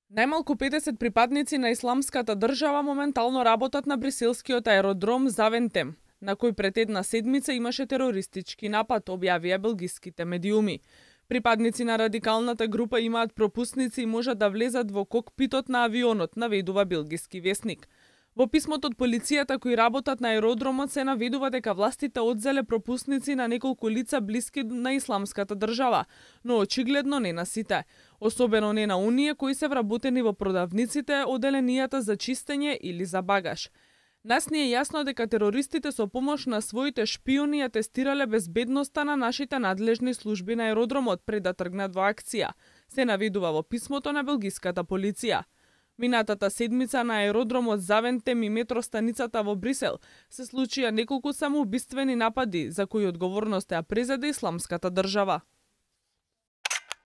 Најмалку 50 припадници на Исламската држава моментално работат на бриселскиот аеродром Завентем, на кој пред една седмица имаше терористички напад, објавија белгиските медиуми. Припадници на радикалната група имаат пропусници и можат да влезат во кокпитот на авионот, наведува белгиски весник. Во писмото од полицијата кои работат на аеродромот се наведува дека властите одзеле пропусници на неколку лица блиски на Исламската држава, но очигледно не на сите, особено не на оние кои се вработени во продавниците, оделенијата за чистење или за багаж. Нас ни е јасно дека терористите со помош на своите шпиони ја тестирале безбедноста на нашите надлежни служби на аеродромот пред да тргнат во акција, се наведува во писмото на белгиската полиција. Минатата седмица на аеродромот Завентем и метростаницата во Брисел се случија неколку самоубиствени напади за кои одговорност ја презеде Исламската држава.